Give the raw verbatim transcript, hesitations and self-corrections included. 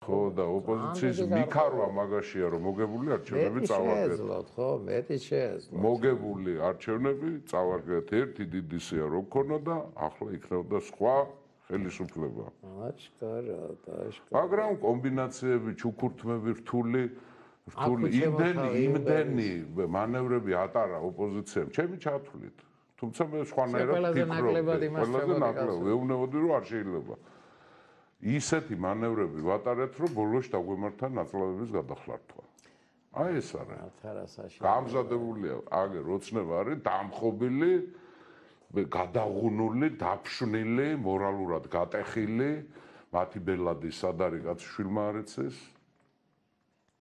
ხო და ოპოზიციის მიქარვა მაგაშია რომ მოგებული არჩევნები წავაგეთ. შეეძლოთ ხო, მეტი შეეძლოთ. მოგებული არჩევნები წავაგეთ ერთი დიდი სია რო ქონოდა, ახლა იქნებოდა სხვა ხელისუფლება. აჩკარად, აჩკარად. მაგრამ კომბინაციები, ჩუქურთმები, რთული რთული იმდენი იმდენი მანევრები ატარა ოპოზიციამ, ჩემი ჩათვლით. თუმცა მე სხვანაირად ვფიქრობდი, ყველაზე ნაკლებად ვეუბნებოდი რომ არ შეიძლება. ისეთი მანევრები ვატარეთ, რომ ბოლოს დაგვემართა ნაწლავების გადახლართვა. აი ეს არის. გამზადებულია, აგერ ოცნება არის დამხობილი, გადაღუნული, დაფშვნილი, მორალურად გატეხილი, მათი ბელადი სად არის კაცი შვილმა არ იცის.